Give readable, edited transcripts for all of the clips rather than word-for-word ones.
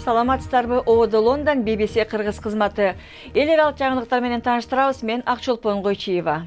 саламатсыздарбы? Ободо Лондон, BBC кыргыз кызматы. Эл аралык жаңылыктар менен тааныштырабыз. Мен Акчолпон Койчиева.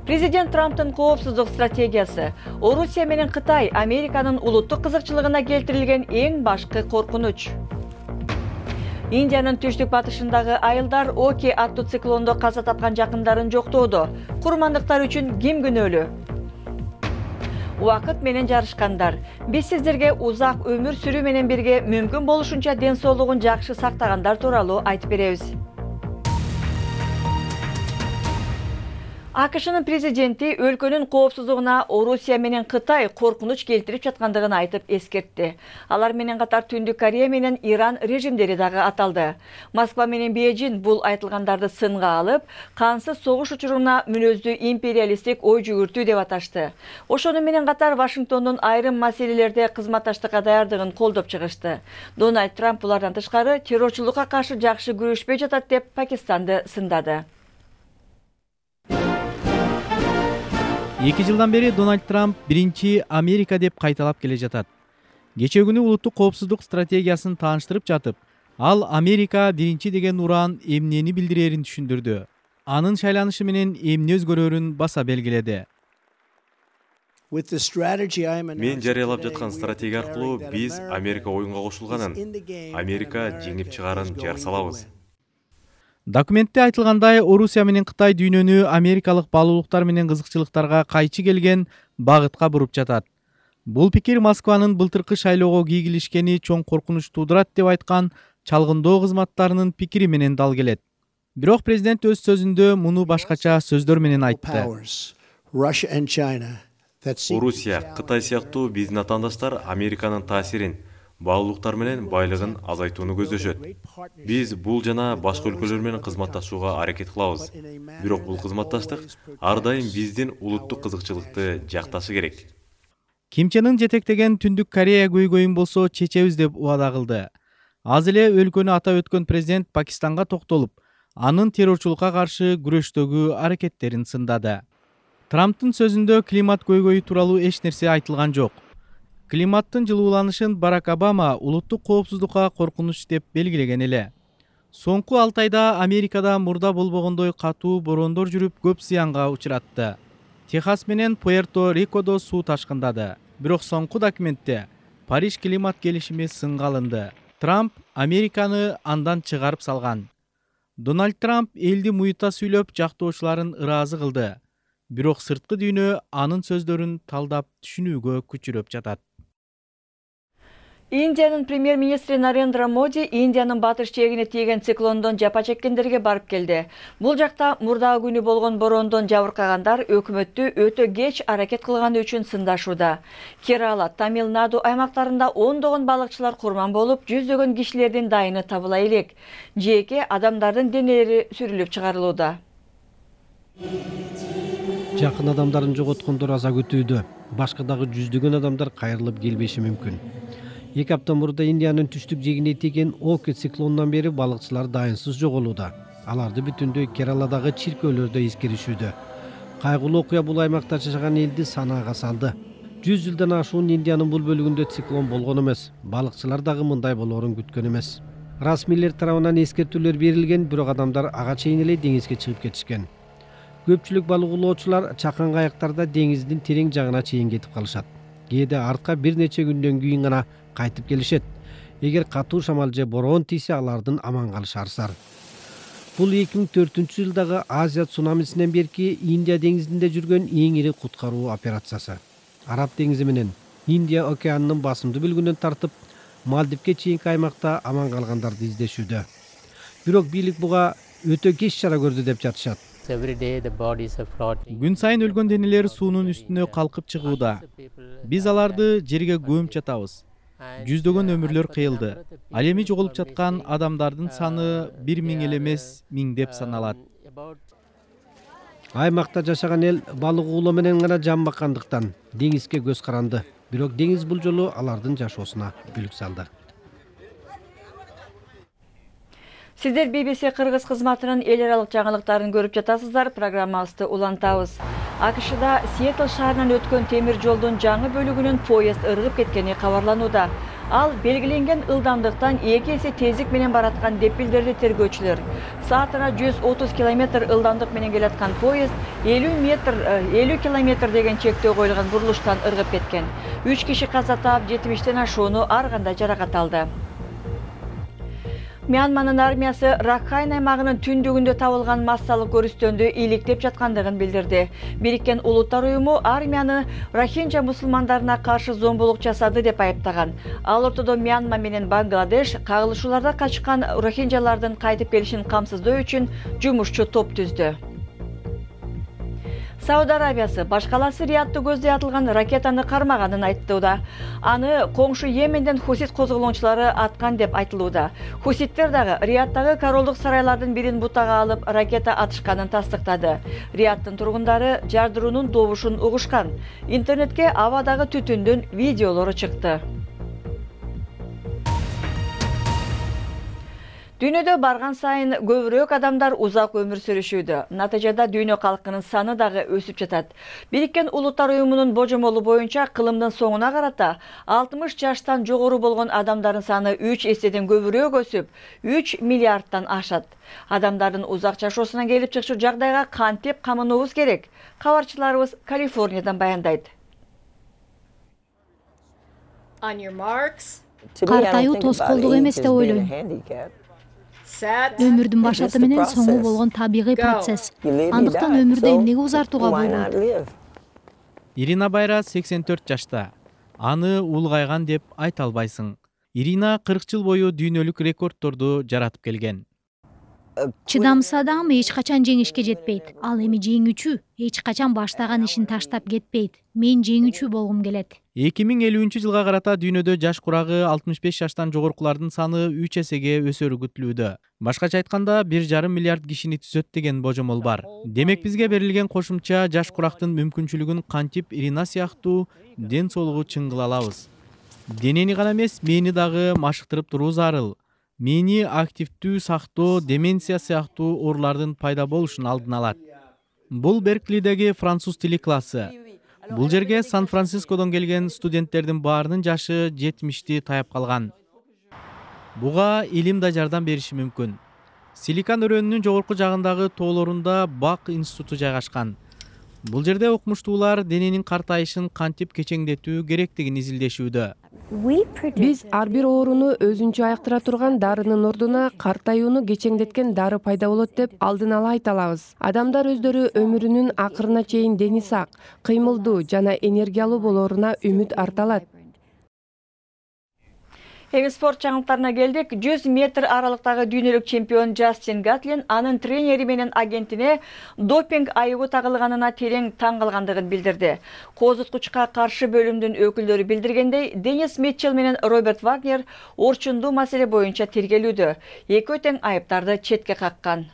Президент Трамптын коопсуздук стратегиясы. Орусия менен Кытай Американын улуттук кызыкчылыгына келтирилген эң башкы коркунуч. Индиянын түштүк батышындагы айылдар Оки аттуу циклондо каза тапкан жакындарын жоктоодо. Курмандыктар үчүн ким күнөөлүү? Убакыт менен жарышкандар. Биз сиздерге узак өмүр сүрүү менен бирге мүмкүн болушунча ден соолугун жакшы сактагандар тууралуу айтып беребиз. АКШнын президенти өлкөнүн коопсуздугуна Орусия менен Кытай коркунуч келтирип жаткандыгын айтып эскертти. Алар менен катар Түндүк Корея менен Иран режимдери дагы аталды. Москва менен Бейжин бул айтылгандарды сынга алып, кансыз согуш учуруна мүнөздүү империалисттик ой жүгүртүү деп аташты. Ошону менен катар Вашингтондун айрым маселелерде кызматташтыкка даярдыгын колдоп чыгышты. Дональд Трамп булардан тышкары террорчулукка каршы жакшы күрөшпөй жатат деп Пакистанды сындады. 2 жылдан бери Дональд Трамп биринчи Америка деп кайталап келе жатат. Кечээ күнү улуттук коопсуздук стратегиясын тааныштырып жатып, ал Америка биринчи деген уран эмнени билдирерин түшүндүрдү. Анын шайланышы менен эмне өзгөрөрүн баса белгиледи. Мен жарыялап жаткан стратегия аркылуу биз Америка оюнга кошулганын, Америка жеңип чыгарын жар салабыз. Документте айтылгандай, Орусия менен Кытай дүйнөнү америкалык баалуулуктар менен кызыкчылыктарга кайчы келген багытка буруп жатат. Бул пикир Москванын былтыркы шайлоого кийгилишкени чоң коркунуч туудурат деп айткан чалгындоо кызматтарынын пикири менен дал келет. Бирок президент өз сөзүндө муну башкача сөздөр менен айтты. Орусия, Кытай сыяктуу биздин атаандаштар Американын таасирин, баалуулуктар менен байлыгын азайтууну көздөшөт. Биз бул жана башка өлкөлөр менен кызматташууга аракет кылабыз. Бирок бул кызматташтык ар дайым биздин улуттук кызыкчылыкты жакташы керек. Ким Чен Ын жетектеген Түндүк Корея көйгөйүн болсо чечебиз деп убада кылды. Аз эле өлкөнү атап өткөн президент Пакистанга токтолуп, анын террорчулукка каршы күрөштөгү аракеттерин сындады. Трамптын сөзүндө климат көйгөйү тууралуу эч нерсе айтылган жок. Климаттын жылууланышын Барак Обама улуттук коопсуздукка коркунуч деп белгилеген эле. Соңку 6 айда Америкада мурда болбогондой катуу бороондор жүрүп, көп зыянга учуратты. Техас менен Пуэрто-Рикодо суу ташкындады. Бирок соңку документте Париж климат келишими сынга алынды. Трамп Американы андан чыгарып салган. Дональд Трамп элди муйта сүйлөп, жактоочуларын ыраазы кылды. Бирок сырткы дүйнө анын сөздөрүн талдап түшүнүүгө күчүрөп жатат. Индиянын премьер-министри Нарендра Моди Индиянын батыш жээгине тийген циклондон жапа чеккендерге барып келди. Бул жакта мурдагы күнү болгон бороондон жабыркагандар өкмөттү өтө кеч аракет кылганы үчүн сындашууда. Керала, Тамил-Наду аймактарында ондогон балыкчылар курман болуп, жүздөгөн кишилердин дайыны табыла элек. Жээкке адамдардын денелери сүрүлүп чыгарылууда. Жакын адамдарын жоготкондор аза күтүүдө. Башка дагы жүздөгөн адамдар кайрылып келбеши мүмкүн. 2 апта мурда Индиянын түштүк жээгине тийген Оки циклонунан бери балыкчылар дайынсыз жоголууда. Аларды бүтүндөй Кераладагы чиркөөлөрдө эскеришүүдө. Кайгылуу окуя бул аймакта жашаган элди санаага салды. 100 жылдан ашуун Индиянын бул бөлүгүндө циклон болгон эмес. Балыкчылар дагы мындай болоорун күткөн эмес. Расмийлер тарабынан эскертүүлөр берилген, бирок адамдар ага чейин эле деңизге чыгып кетишкен. Көпчүлүк балык улоочулар чакан кайыктарда деңиздин терең жагына чейин кетип калышат. Кээде артка бир нече күндөн кийин гана кайтып келишет. Эгер катуу шамал же бороон тийсе, алардын аман калышы арзар. Бул 2004-жылдагы Азия цунамисинен берки Индия деңизинде жүргөн эң ири куткаруу операциясы. Араб деңизи менен Индия океанынын басымдуу бөлүгүнөн тартып, Мальдивке чейинки аймакта аман калгандарды издешүүдө. Бирок бийлик буга өтө кеч чара көрдү деп жатышат. Күн сайын өлгөн денелер суунун үстүнө калкып чыгууда. Биз аларды жерге көмүп жатабыз. Жүздөгөн өмүрлөр кыйылды. Ал эми жоголуп жаткан адамдардын саны 1000 эле эмес, миңдеп саналат. Аймакта жашаган эл балык уулоо менен гана жан баккандыктан деңизге көз каранды. Бирок деңиз бул жолу алардын жашоосуна бүлүк салды. Сиздер BBC кыргыз кызматынын эл аралык жаңылыктарын көрүп жатасыздар. Программабызды улантабыз. АКШда Сиэтл шаарынан өткөн темир жолдун жаңы бөлүгүнүн поезд ыргып кеткени кабарланууда. Ал белгиленген ылдамдыктан 2 эсе тездик менен бараткан деп билдирди тергөөчүлөр. Саатына 130 км ылдамдык менен келаткан поезд 50 км деген чектөө коюлган бурулуштан ыргып кеткен. 3 киши каза таап, 70тен ашууну ар кандай жаракат алды. Мьянманын армиясы Ракхайн аймагынын түндүгүндө табылган массалык көрүстөндү иликтеп жаткандыгын билдирди. Бириккен Улуттар уюму армияны рохинджа мусулмандарына каршы зомбулук жасады деп айыптаган. Ал ортодо Мьянма менен Бангладеш кагылышууларда качкан рохинджалардын кайтып келишин камсыздоо үчүн жумушчу топ түздү. Сауд Арабиясы башкаласы Риядты көздөй атылган ракетаны кармаганын айттууда. Аны коңшу Йеменден хусит козголоочулары аткан деп айтылууда. Хуситтер дагы Риядтагы королдук сарайлардын бирин бутага алып ракета атышканын тастыктады. Риядтын тургундары жардыруунун добушун угушкан. Интернетке абадагы түтүндүн видеолору чыкты. Дүйнөдө барган сайын көбүрөөк адамдар узак өмүр сүрүшүүдө. Натыйжада дүйнө калкынын саны дагы өсүп жатат. Бириккен Улуттар уюмунун божомолу боюнча кылымдын соңуна карата 60 жаштан жогору болгон адамдардын саны 3 эседен көбүрөөк өсүп, 3 миллиардтан ашат. Адамдардын узак жашоосуна келип чыкчу жагдайга кантип камынуубуз керек? Кабарчыларыбыз Калифорниядан баяндайт. Картайуу тоскоолдук эмес деп ойлойм. Өмүрдүн башаты менен соңу болгон табигый процесс. Андыктан өмүрдү эмнеге узартууга болбойт? Ирина Байра 84 жашта. Аны улгайган деп айта албайсың. Ирина 40 жыл бою дүйнөлүк рекордторду жаратып келген. Чыдамсыз адам эч качан жеңишке жетпейт. Ал эми жеңүүчү эч качан баштаган ишин таштап кетпейт. Мен жеңүүчү болгум келет. 2050 жылга карата дүйнөдө жаш курагы 65 жаштан жогоркулардын саны 3 эсеге өсөрү күтүлүүдө. Башкача айтканда 1,5 миллиард кишини түзөт деген божомол бар. Демек бизге берилген кошумча жаш курактын мүмкүнчүлүгүн кантип Ирина сыяктуу ден соолугу чыңгыла алабыз. Денени гана эмес, мээни дагы машыктырып туруу зарыл. Мээни активдүү сактоо, деменция сыяктуу оорулардын пайда болушун алдын алат. Бул Берклидеги француз тили классы. Бул жерге Сан-Францискодон келген студенттердин баарынын жашы 70ти таяп калган. Буга илим да жардам бериши мүмкүн. Силикон өрөөнүнүн жогорку жагындагы тоолорунда Бак институту жайгашкан. Бул жерде окумуштуулар дененин картайышын кантип кечеңдетүү керектигин изилдешүүдө. Биз ар бир ооруну өзүнчө айыктыра турган дарынын ордуна картаюуну кечеңдеткен дары пайда болот деп алдын ала айта алабыз. Адамдар өздөрү өмүрүнүн акырына чейин дени сак, кыймылдуу жана энергиялуу болоруна үмүт арта алат. Эми спорт жаңылыктарына келдик. 100 метр аралыктагы дүйнөлүк чемпион Джастин Гатлин анын тренери менен агентине допинг айыбы тагылганына терең таң калгандыгын билдирди. Козуткучка каршы бөлүмдүн өкүлдөрү билдиргендей, Денис Митчелл менен Роберт Вагнер орчундуу маселе боюнча тергелүүдө. Экөө тең айыптарды четке каккан.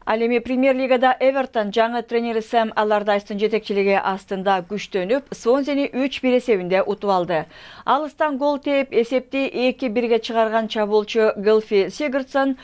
Ал эми Премьер-лигада Эвертон жаңы тренери Сэм Аллардайстын жетекчилиги астында күчтөнүп, Свонзени 3-1 эсебинде утуп алды. Алыстан гол тээп, эсепти 2-1 чыгарган чабуулчу Гэлфи Сигурдсон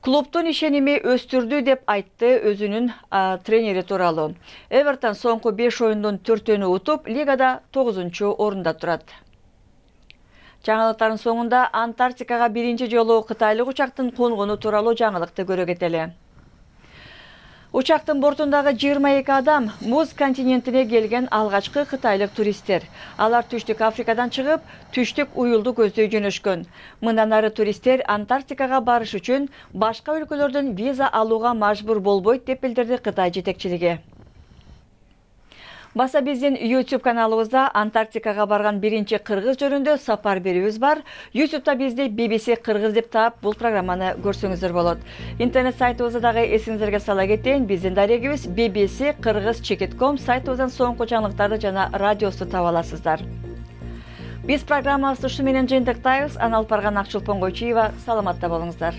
клубтун ишеними өстүрдү деп айтты өзүнүн тренери тууралуу. Эвертон соңку 5 оюндун 4-өнү утуп, лигада 9-орунда турат. Жаңылыктардын соңунда Антарктикага биринчи жолу кытайлык учактын конгону тууралуу жаңылыкты көрө кетели. Учактын бортундагы 22 адам муз континентине келген алгачкы кытайлык туристтер. Алар Түштүк Африкадан чыгып, Түштүк уюлду көздөй жөнөшкөн. Мындан ары туристтер Антарктикага барыш үчүн башка өлкөлөрдөн виза алууга мажбур болбойт деп билдирди Кытай жетекчилиги. Баса биздин YouTube каналыбызда Антарктикага барган биринчи кыргыз жөнүндө сапар берүүбүз бар. YouTube'да бизди BBC Кыргыз деп таап, бул программаны көрсөңүздөр болот. Интернет сайтыбызды дагы эсиңиздерге сала кетейин. Биздин дарегибиз bbc-kыргыз.com сайтыбыздан соңку жаңылыктарды жана радиосу таба аласыздар. Биз программабызды ушу менен жыйынтыктайбыз. Аны алып барган Акчулпон Койчуева, саламатта болуңуздар.